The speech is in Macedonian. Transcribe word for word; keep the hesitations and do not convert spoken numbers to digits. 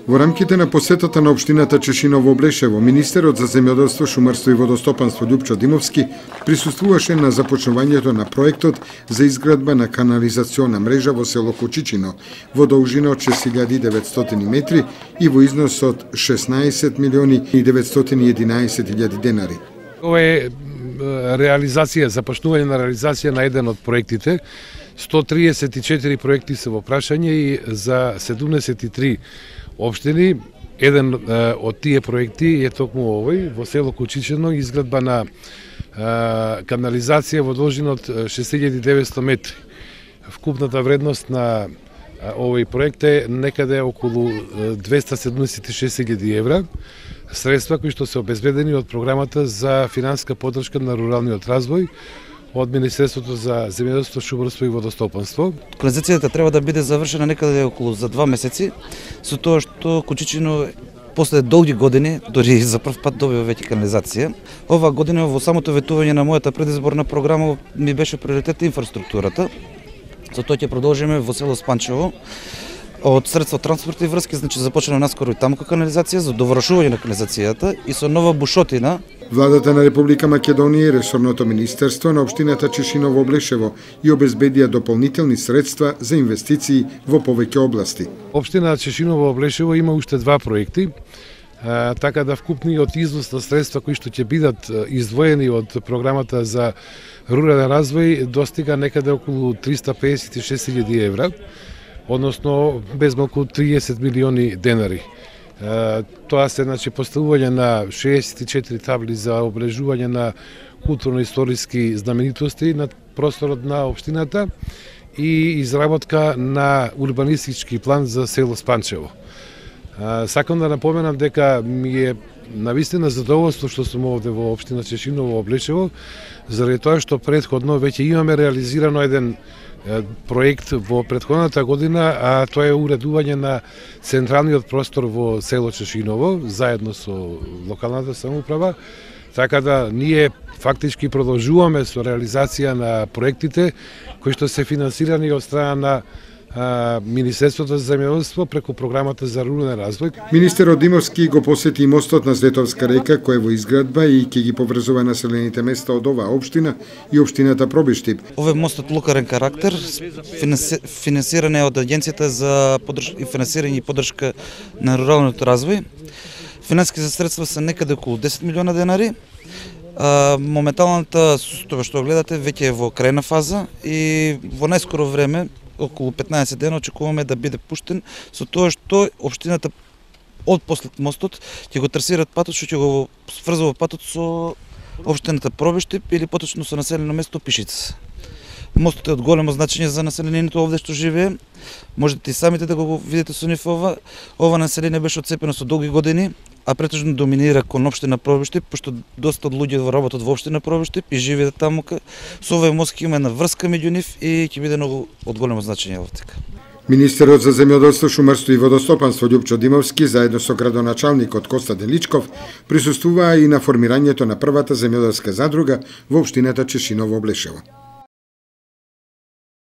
Во рамките на посетата на општината Чешиново Облешево, министерот за земјоделство, шумарство и водостопанство Љупчо Димовски присуствуваше на започнувањето на проектот за изградба на канализациона мрежа во село Кучичино во должина од шест илјади и деветстотини метри и во износ од шеснаесет милиони и деветстотини и единаесет илјади денари. Ова е реализација, започнување на реализација на еден од проектите. сто триесет и четири проекти се во прашање и за седумдесет и три општини. Еден од тие проекти е токму овој во село Кучичино, изградба на канализација во должина од шест илјади и деветстотини метри. Вкупната вредност на овој проект е некаде околу двеста седумдесет и шест илјади евра, средства кои што се обезбедени од програмата за финансиска поддршка на руралниот развој од Министерството за земјоделство, шумарство и водостопанство. Канализацијата треба да биде завршена некаде околу за два месеци, со тоа што Кучичино после долги години, дори за прв пат добива веќе канализација. Ова година во самото ветување на мојата предизборна програма ми беше приоритет инфраструктурата. За тоа ќе продолжиме во село Спанчево. Од средства транспорт и врски, значи започна наскоро и таму канализација за довршување на канализацијата и со нова бушотина. Владата на Република Македонија и ресорното министерство на општината Чешиново Облешево и обезбедија дополнителни средства за инвестиции во повеќе области. Општина Чешиново Облешево има уште два проекти, а, така да вкупниот износ на средства кои што ќе бидат издвоени од програмата за рурален развој достига некаде околу триста педесет и шест илјади евра, односно безмалку триесет милиони денари. Тоа се значи поставување на шеесет и четири табли за обележување на културно-историски знаменитости на просторот на општината и изработка на урбанистички план за село Спанчево. Сакам да напоменам дека ми е навистина задоволство што сум овде во општина Чешиново Облешево, заради тоа што претходно веќе имаме реализирано еден проект во претходната година, а тоа е уредување на централниот простор во село Чешиново, заедно со локалната самоуправа, така да ние фактички продолжуваме со реализација на проектите кои што се финансирани од страна на Министерството за земјоделство преку програмата за рурален развој. Министерот Димовски го посети и мостот на Злетовска река кој е во изградба и ќе ги поврзува населените места од оваа општина и општината Пробиштип. Овој мост од локален карактер, финансиран е од Агенцијата за финансирање и поддршка на руралниот развој. Финансиските средства се некаде околу десет милиона денари. Моменталната тоа што гледате веќе е во крајна фаза и во најскоро време, околу петнаесет дена, очекуваме да биде пуштен, со тоа што општината од послед мостот ќе го трасираат патот што ќе го сврзува патот со општината Пробиштип или поточно со населено место Пишица. Мостот е од големо значење за населението овде што живее. Можете и самите да го видите со нив ова. Ова население беше отцепено со долги години, а претежно доминира кон општина Пробиштип, пошто доста од луѓе работат во општина Пробиштип и живеат таму. Со овој мост ќе има една врска меѓу нив и ќе биде многу од големо значење овде. Министерот за земјоделство, шумарство и водостопанство Љупчо Димовски заедно со градоначалникот Коста Деличков присуствуваа и на формирањето на првата земјоделска задруга во општината Чешиново Облешево.